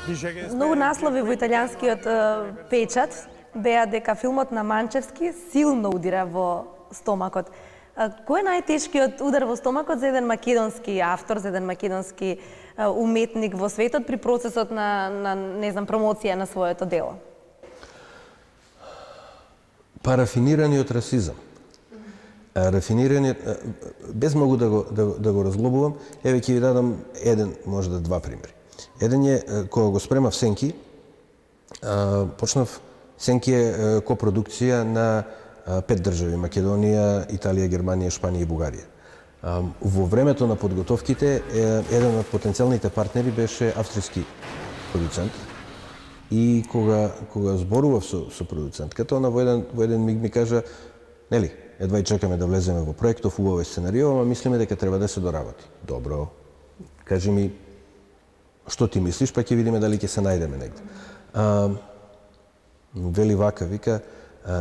Многу наслови во италијанскиот печат беа дека филмот на Манчевски силно удира во стомакот. Кој е најтешкиот удар во стомакот за еден македонски автор, за еден македонски уметник во светот при процесот на не знам, промоција на своето дело? Рафинираниот расизам. Рафинираниот, без многу да го разглобувам, еве ќе ви дадам еден, можда два примери. Еден е, кога го спремав Сенки, почнав, Сенки е копродукција на 5 држави: Македонија, Италија, Германија, Шпанија и Бугарија. Во времето на подготовките, еден од потенцијалните партнери беше австријски продуцент. И кога зборував со продуцентката, она во еден миг ми кажа: нели, едва и чекаме да влеземе во проектов, убаво е сценарио, ама мислиме дека треба да се доработи. Добро, кажи ми што ти мислиш, па ќе видиме дали ќе се најдеме негде. Вели вака, вика,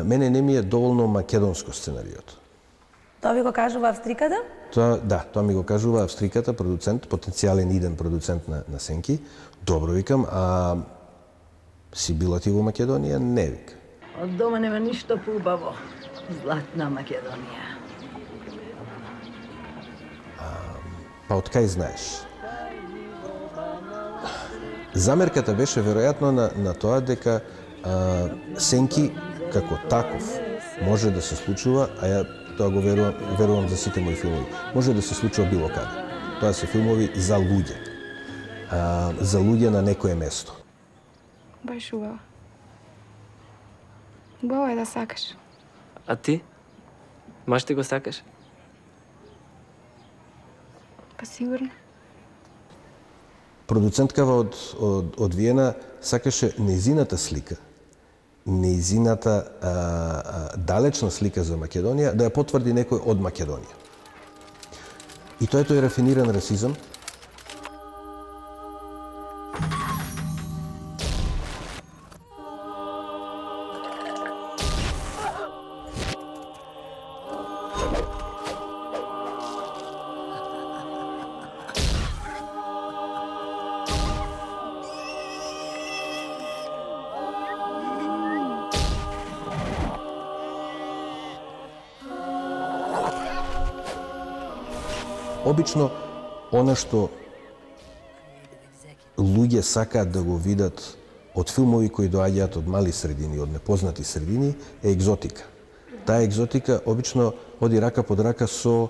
мене не ми е доволно македонско сценариото. Тоа ви го кажува австриката? Тоа ми го кажува австриката, продуцент, потенцијален иден продуцент на Сенки. Добро, викам, а си била ти во Македонија? Не, вика. Од дома нема ништо поубаво. Златна Македонија. Па од кај знаеш? Замерката беше веројатно на тоа дека Сенки како таков може да се случува, а ја тоа го верувам за сите мои филмови. Може да се случува било каде. Тоа се филмови за луѓе. За луѓе на некое место. Баш убаво. Убаво е да сакаш. А ти? Маш ти го сакаш? Па сигурно. Продуценткава од Виена сакаше нејзината слика, нејзината далечна слика за Македонија, да ја потврди некој од Македонија. И тоа е тој рафиниран расизам. Обично, она што луѓе сакаат да го видат од филмови кои доаѓаат од мали средини, од непознати средини, е екзотика. Таа екзотика обично оди рака под рака со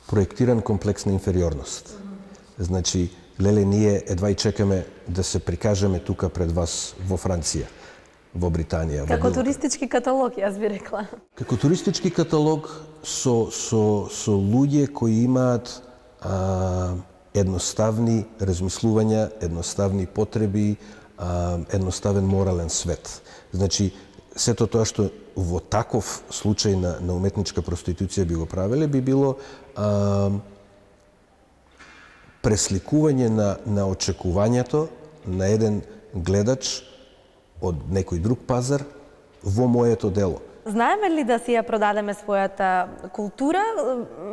проектиран комплекс на инфериорност. Значи, леле, ние едва и чекаме да се прикажеме тука пред вас во Франција, во Британија. Како туристички каталог, јас би рекла. Како туристички каталог со луѓе кои имаат едноставни размислувања, едноставни потреби, едноставен морален свет. Значи, сето тоа што во таков случај на уметничка проституција би го правеле, би било пресликување на очекувањето на еден гледач од некој друг пазар во моето дело. Знаеме ли да си ја продадеме својата култура?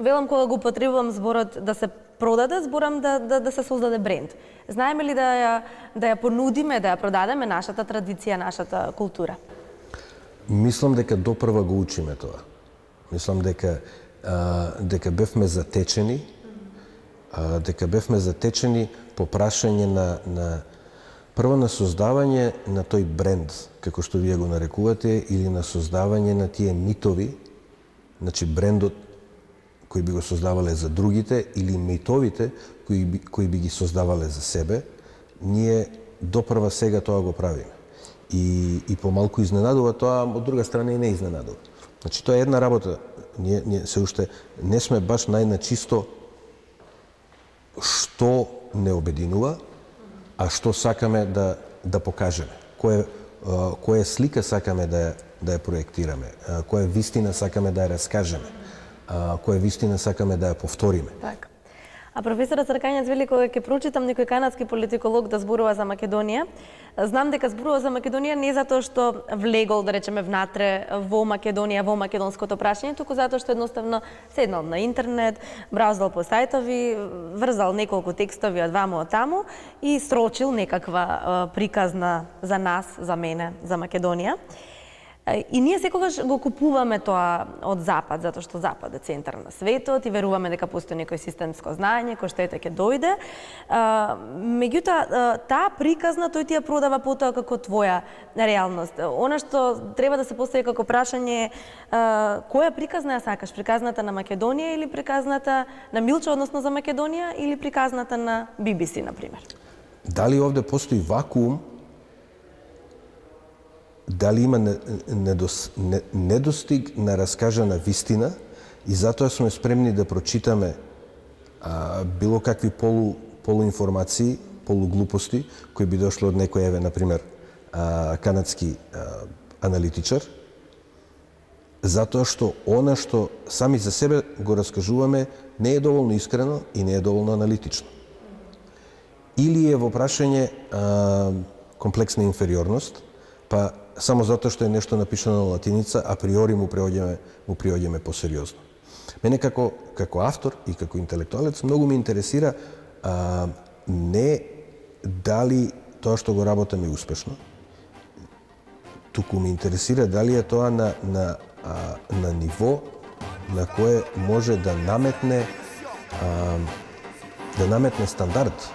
Велам кога го употребувам зборот да се продаде, зборам да се создаде бренд. Знаеме ли да ја понудиме, да ја продадеме нашата традиција, нашата култура? Мислам дека допрва го учиме тоа. Мислам дека бевме затечени, по прашање на прво на создавање на тој бренд, како што вие го нарекувате, или на создавање на тие митови, значи брендот кои би го создавале за другите, или митовите кои би ги создавале за себе, ние допрва сега тоа го правиме. И помалку изненадува тоа, од друга страна и не изненадува. Значи, тоа е една работа. Ние се уште не сме баш најначисто што не обединува, а што сакаме да покажеме. Која слика сакаме да ја проектираме, која вистина сакаме да ја раскажеме, која вистина сакаме да ја повториме. Така. А професорот Цркањац вели кога ќе прочитам некој канадски политиколог да зборува за Македонија, знам дека зборува за Македонија не затоа што влегол, да речеме, внатре во Македонија, во македонското прашање, туку затоа што едноставно седнал на интернет, браузал по сајтови, врзал неколку текстови од ваму од таму и срочил некаква приказна за нас, за мене, за Македонија. И ние секогаш го купуваме тоа од Запад, затоа што Запад е центар на светот и веруваме дека постои некој системско знаење кој што ете ќе дојде. Меѓутоа, таа приказна тој ти ја продава потоа како твоја реалност. Она што треба да се постави како прашање е која приказна ја сакаш? Приказната на Македонија или приказната на Милчо, односно за Македонија, или приказната на BBC, например? Дали овде постои вакуум? Дали има недостиг на раскажана вистина и затоа сме спремни да прочитаме било какви полуинформации, полуглупости, кои би дошло од некој, еве, например, канадски аналитичар, затоа што она што сами за себе го раскажуваме не е доволно искрено и не е доволно аналитично. Или е во прашање комплексна инфериорност, па само затоа што е нешто напишано на латиница, априори му приоѓаме посериозно. Мене како автор и како интелектуалец многу ме интересира не дали тоа што го работам е успешно, туку ме интересира дали е тоа на ниво на кое може да наметне стандард.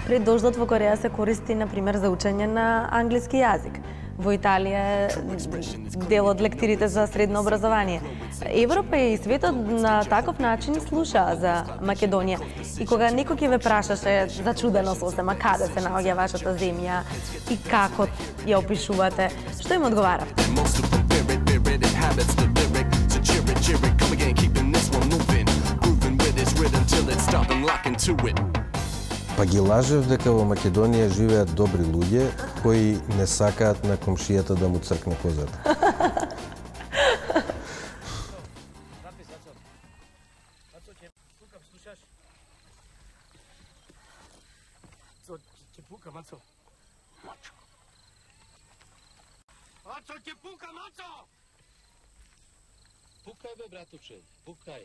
Пред дождот во Кореја се користи, например, за учење на англиски јазик. Во Италија е дел од лектирите за средно образование. Европа и светот на таков начин слушаа за Македонија. И кога некој ќе ве прашаше зачудено сосема каде се наоѓа вашата земја и како ја опишувате, што им одговаравте? Па ги лажев дека во Македонија живеат добри луѓе кои не сакаат на комшијата да му цркне козата. Пукај бе, братуче, пукај.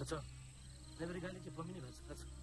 Aco, ne vrigani ќе помини, Aco.